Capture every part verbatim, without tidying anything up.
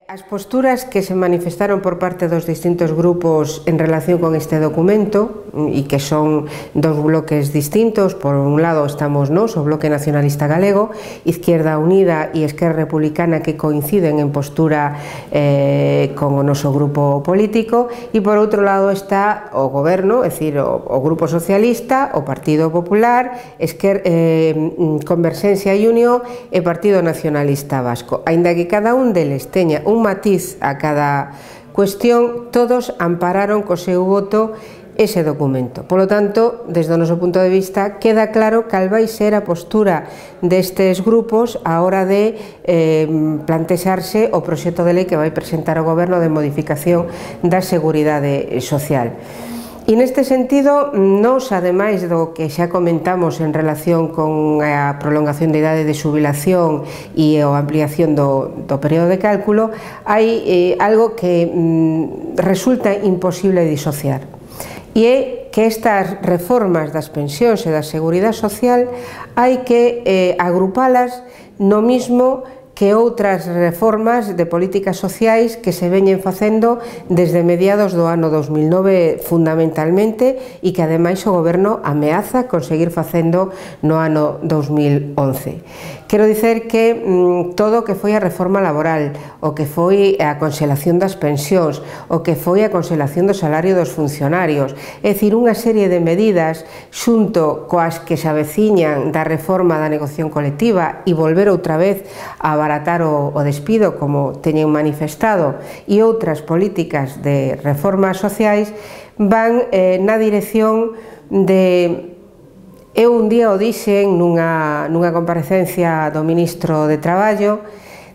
As posturas que se manifestaron por parte dos distintos grupos en relación con este documento, e que son dos bloques distintos, por un lado estamos nós, o Bloque Nacionalista Galego, Izquierda Unida e Esquerra Republicana, que coinciden en postura eh, con o noso grupo político, e por outro lado está o Goberno, é dicir, o, o Grupo Socialista, o Partido Popular, Esquer, eh, Converxencia e Unión e Partido Nacionalista Vasco. Aínda que cada un deles teña un matiz a cada cuestión, todos ampararon co seu voto ese documento. Polo tanto, desde o noso punto de vista, queda claro cal vai ser a postura destes grupos a hora de eh, plantexarse o proxecto de lei que vai presentar o Goberno de modificación da Seguridade Social. E neste sentido, nos, ademais do que xa comentamos en relación con a prolongación de idade de xubilación e a ampliación do, do período de cálculo, hai eh, algo que mm, resulta imposible disociar, e é que estas reformas das pensións e da seguridade social hai que eh, agrupalas no mismo que outras reformas de políticas sociais que se veñen facendo desde mediados do ano dos mil nove fundamentalmente, e que ademais o Goberno ameaza conseguir facendo no ano dos mil once. Quero dicer que mmm, todo o que foi a reforma laboral, o que foi a conxelación das pensións, o que foi a conxelación do salario dos funcionarios, é dicir, unha serie de medidas xunto coas que se aveciñan da reforma da negociación colectiva e volver outra vez a abaratar o, o despido, como teñen manifestado, e outras políticas de reformas sociais van eh, na dirección de... Eu un día o dixen nunha, nunha comparecencia do ministro de Traballo,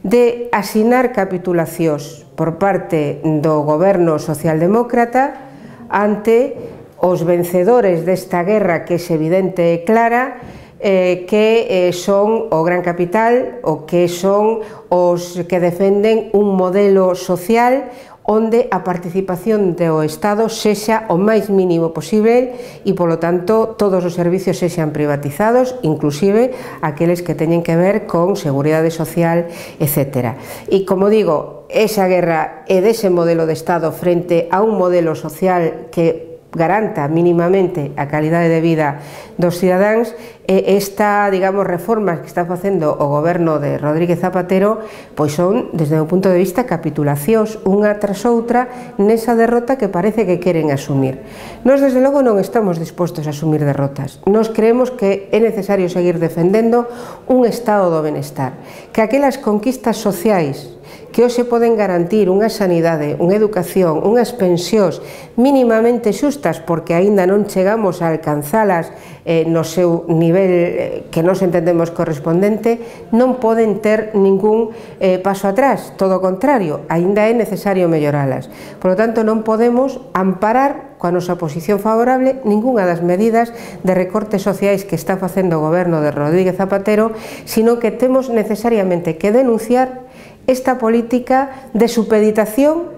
de asinar capitulacións por parte do goberno socialdemócrata ante os vencedores desta guerra que é evidente e clara, eh, que eh, son o gran capital, o que son os que defenden un modelo social onde a participación do Estado sexa o máis mínimo posible e, polo tanto, todos os servicios sexan privatizados, inclusive aqueles que teñen que ver con seguridade social, etcétera. E, como digo, esa guerra é dese modelo de Estado frente a un modelo social que garanta mínimamente a calidade de vida dos cidadáns, e esta, digamos, reformas que está facendo o goberno de Rodríguez Zapatero pois son, desde o punto de vista, capitulacións unha tras outra nesa derrota que parece que queren asumir. Nós, desde logo, non estamos dispostos a asumir derrotas. Nós creemos que é necesario seguir defendendo un estado do benestar, que aquelas conquistas sociais que hoxe poden garantir unha sanidade, unha educación, unhas pensións mínimamente xustas, porque aínda non chegamos a alcanzalas eh, no seu nivel que nos entendemos correspondente, non poden ter ningún eh, paso atrás, todo o contrario, aínda é necesario melloralas. Por lo tanto, non podemos amparar coa nosa posición favorable ningunha das medidas de recortes sociais que está facendo o goberno de Rodríguez Zapatero, sino que temos necesariamente que denunciar esta política de supeditación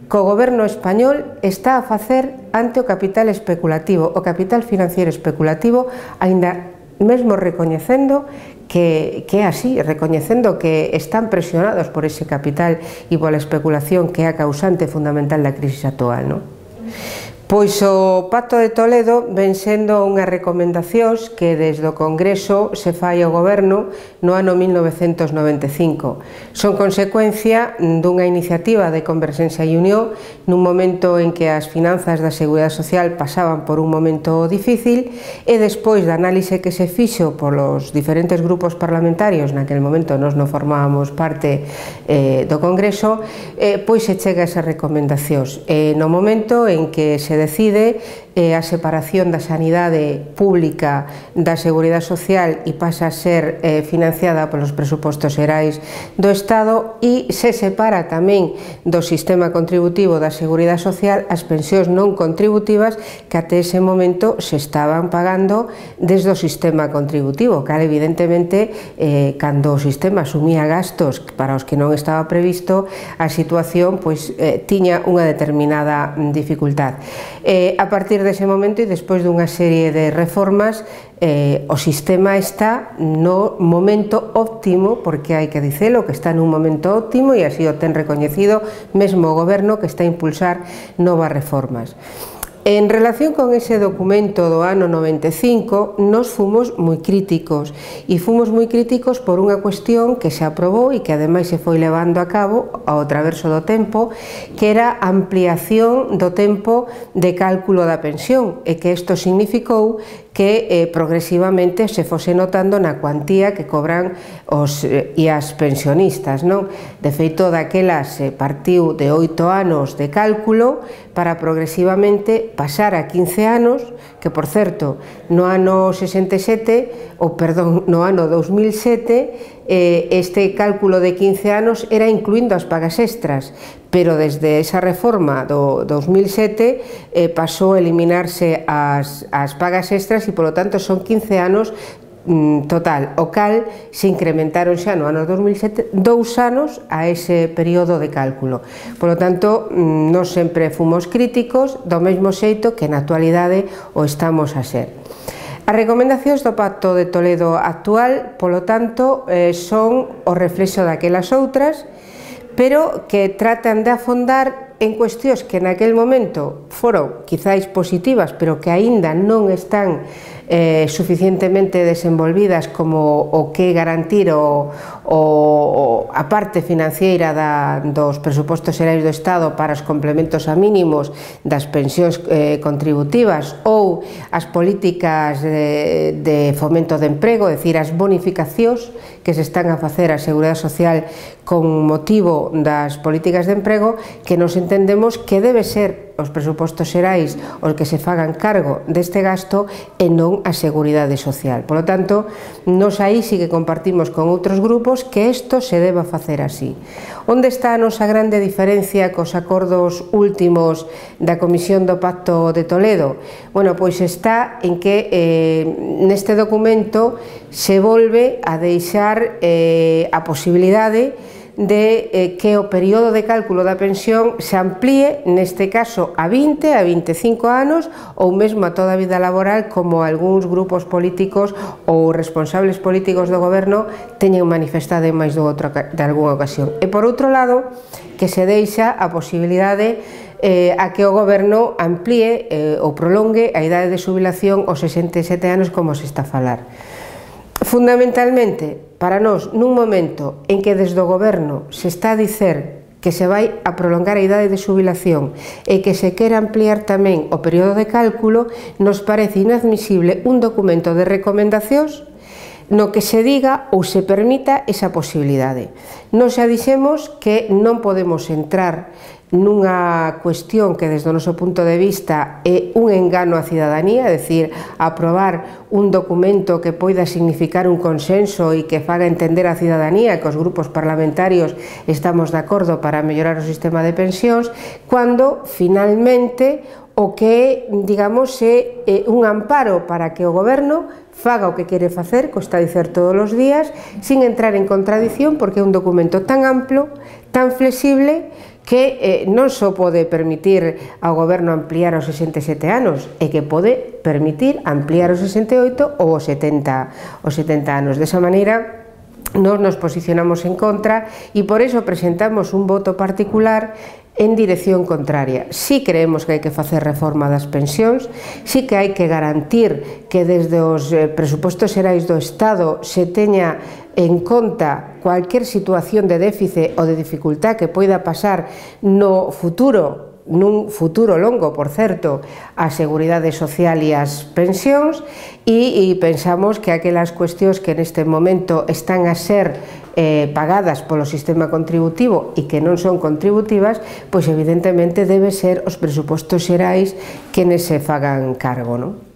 que o goberno español está a facer ante o capital especulativo, o capital financiero especulativo, aínda mesmo recoñecendo que, que é así, recoñecendo que están presionados por ese capital e pola especulación que é a causante fundamental da crisis actual, non? Pois o Pacto de Toledo ven sendo unhas recomendacións que desde o Congreso se fai ao Goberno no ano mil novecentos noventa e cinco. Son consecuencia dunha iniciativa de Converxencia e Unión nun momento en que as finanzas da Seguridade Social pasaban por un momento difícil, e despois da análise que se fixo polos diferentes grupos parlamentarios, naquele momento nós non formábamos parte eh, do Congreso, eh, pois se chega a esas recomendacións. E no momento en que se decide eh, a separación da sanidade pública da seguridade social e pasa a ser eh, financiada polos presupostos xerais do Estado, e se separa tamén do sistema contributivo da seguridade social as pensións non contributivas que até ese momento se estaban pagando desde o sistema contributivo, que evidentemente eh, cando o sistema asumía gastos para os que non estaba previsto, a situación pois, eh, tiña unha determinada dificultad. Eh, a partir de dese momento e despois dunha serie de reformas eh, o sistema está no momento óptimo, porque hai que dicelo que está nun momento óptimo e así o ten recoñecido mesmo o goberno que está a impulsar novas reformas. En relación con ese documento do ano noventa e cinco, nos fomos moi críticos e fomos moi críticos por unha cuestión que se aprobou e que ademais se foi levando a cabo ao traverso do tempo, que era a ampliación do tempo de cálculo da pensión e que isto significou que eh, progresivamente se fose notando na cuantía que cobran os eh, e as pensionistas, non? De feito, daquela se partiu de oito anos de cálculo para progresivamente pasar a quince anos, que, por certo, no ano sesenta e sete, ou perdón, no ano dos mil sete, eh, este cálculo de quince anos era incluindo as pagas extras, pero desde esa reforma do dos mil sete eh, pasou a eliminarse as, as pagas extras e, polo tanto, son quince anos total, o cal se incrementaron xa no ano dos mil sete dous anos a ese período de cálculo. Por lo tanto, nós sempre fomos críticos, do mesmo xeito que na actualidade o estamos a ser. As recomendacións do Pacto de Toledo actual, polo tanto, eh, son o reflexo daquelas outras, pero que tratan de afondar en cuestións que naquel momento foron quizáis positivas, pero que aínda non están eh, suficientemente desenvolvidas como o que garantir o, o, a parte financiera da, dos presupostos xerais do Estado para os complementos a mínimos das pensións eh, contributivas ou as políticas de, de fomento de emprego, é dicir, as bonificacións que se están a facer a Seguridade Social con motivo das políticas de emprego, que nos entendemos que debe ser os presupostos xerais os que se fagan cargo deste gasto e non a Seguridade Social. Por lo tanto, nos aí sí que compartimos con outros grupos que isto se deba facer así. Onde está a nosa grande diferencia cos acordos últimos da Comisión do Pacto de Toledo? Bueno, pois está en que eh, neste documento se volve a deixar eh, a posibilidade de eh, que o período de cálculo da pensión se amplíe, neste caso, a vinte, a vinte e cinco anos ou mesmo a toda a vida laboral, como algúns grupos políticos ou responsables políticos do goberno teñen manifestado en máis de, outra, de algunha ocasión. E por outro lado, que se deixa a posibilidade eh, a que o goberno amplíe eh, ou prolongue a idade de xubilación aos sesenta e sete anos, como se está a falar. Fundamentalmente, para nós, nun momento en que desde o goberno se está a dicer que se vai a prolongar a idade de xubilación e que se quere ampliar tamén o período de cálculo, nos parece inadmisible un documento de recomendacións no que se diga ou se permita esa posibilidade. Nos xa dixemos que non podemos entrar nunha cuestión que desde o noso punto de vista é un engano á cidadanía, é dicir, aprobar un documento que poida significar un consenso e que faga entender á cidadanía que os grupos parlamentarios estamos de acordo para mellorar o sistema de pensións, cando finalmente o que, digamos, é un amparo para que o goberno faga o que quere facer, costa dicer todos os días, sin entrar en contradición, porque é un documento tan amplo, tan flexible, que eh, non só pode permitir ao goberno ampliar aos sesenta e sete anos, e que pode permitir ampliar aos sesenta e oito ou aos setenta anos. Desa maneira, nós nos posicionamos en contra e por iso presentamos un voto particular en dirección contraria. Si creemos que hai que facer reforma das pensións, si que hai que garantir que desde os presupostos xerais do Estado se teña en conta cualquier situación de déficit ou de dificultad que poida pasar no futuro, nun futuro longo, por certo, a Seguridade Social e as pensións, e, e pensamos que aquelas cuestións que neste momento están a ser eh, pagadas polo sistema contributivo e que non son contributivas, pois evidentemente debe ser os presupostos xerais que nese fagan cargo, non?